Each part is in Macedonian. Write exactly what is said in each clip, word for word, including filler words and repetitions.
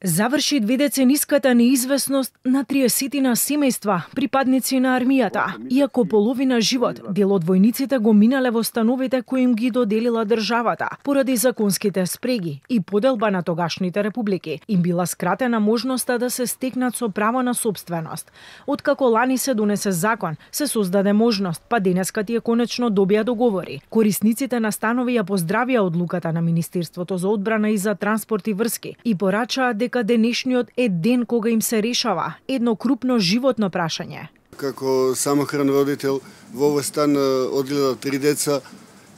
Заврши дведецениската неизвестност на триесетина семејства, припадници на армијата, иако половина живот дел од војниците го минале во становите кои им ги доделила државата, поради законските спреги и поделба на тогашните републики, им била скратена можноста да се стекнат со право на собственост. Откако лани се донесе закон, се создаде можност, па денеска тие конечно добија договори. Корисниците на станови ја поздравија одлуката на Министерството за одбрана и за транспорт и врски и порачаа дека денешниот е ден кога им се решава едно крупно животно прашање. Како самохран родител во овој стан одгледав три деца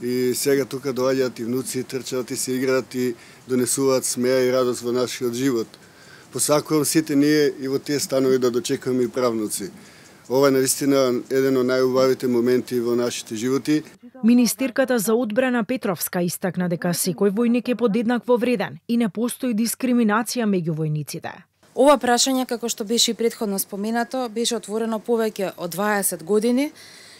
и сега тука доаѓаат и внуци, трчаат и се играат и донесуваат смеа и радост во нашиот живот. Посакувам сите ние и во тие станови да дочекуваме и правнуци. Ова е наистина еден од најубавите моменти во нашите животи. Министерката за одбрана Петровска истакна дека секој војник е подеднакво вреден и не постои дискриминација меѓу војниците. Ова прашање, како што беше и претходно споменато, беше отворено повеќе од дваесет години,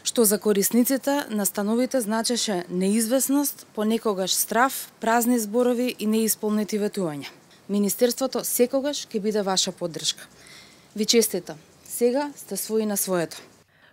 што за корисниците на становите значеше неизвестност, понекогаш страф, празни зборови и неисполнети ветувања. Министерството секогаш ќе биде ваша поддршка. Ви честитам. Сега сте своји на своето.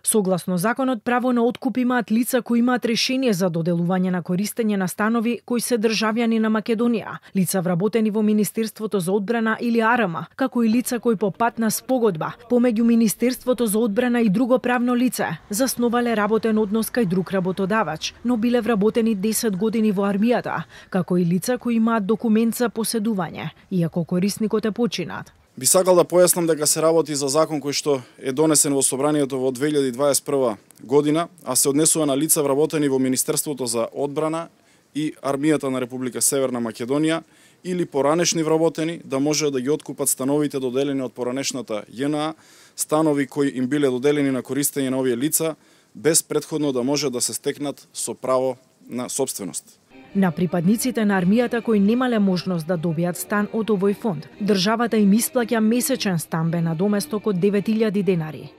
Согласно законот, право на откуп имаат лица кои имаат решение за доделување на користење на станови кои се државјани на Македонија, лица вработени во Министерството за одбрана или А Р М, како и лица кои по пат на спогодба помеѓу Министерството за одбрана и друго правно лице засновале работен однос кај друг работодавач, но биле вработени десет години во армијата, како и лица кои имаат документ за поседување, иако корисникот е починат. Би сакал да појаснам дека се работи за закон кој што е донесен во Собранието во две илјади дваесет и прва година, а се однесува на лица вработени во Министерството за одбрана и армијата на Република Северна Македонија или поранешни вработени да може да ги откупат становите доделени од поранешната Ј Н А, станови кои им биле доделени на користење на овие лица без претходно да може да се стекнат со право на собственост. На припадниците на армијата кои немале можност да добијат стан од овој фонд, државата им исплаќа месечен стамбен надоместок од девет илјади денари.